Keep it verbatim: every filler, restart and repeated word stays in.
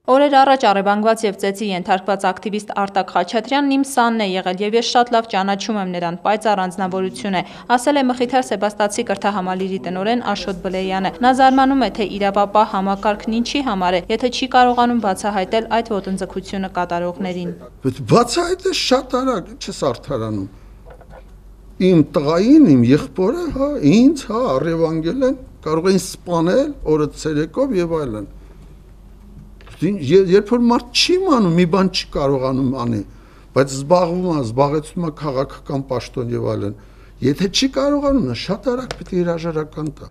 Օրեր առաջ առևանգված եւ ծեծի ենթարկված ակտիվիստ Արտակ Խաչատրյանն իմ սանն է եղել եւ ես շատ լավ ճանաչում եմ նրան, պայծառ անձնավորություն է, ասել է Մխիթար Սեբաստացի կրթահամալիրի տնօրեն Աշոտ Բլեյանը։ Նա զարմանում է, թե իրավապահ համակարգն ինչի համար է, եթե չի կարողանում բացահայտել այդ ոտնձգությունը կատարողներին։ Բացահայտել շատ արագ, չես արդարանում։ Իմ տղային, իմ եղբորը, հա, ինձ, հա, առևանգել են, կարող էին սպանել օրը ցերեկով եւ այլն։ Երբ որ մարդ չի մանում, մի բան չի կարողանում անի, բայց զբաղվում է, զբաղեցնում է քաղաքական պաշտոն եւ այլն։ Եթե չի կարողանում, շատ արագ պետք է հրաժարական տա։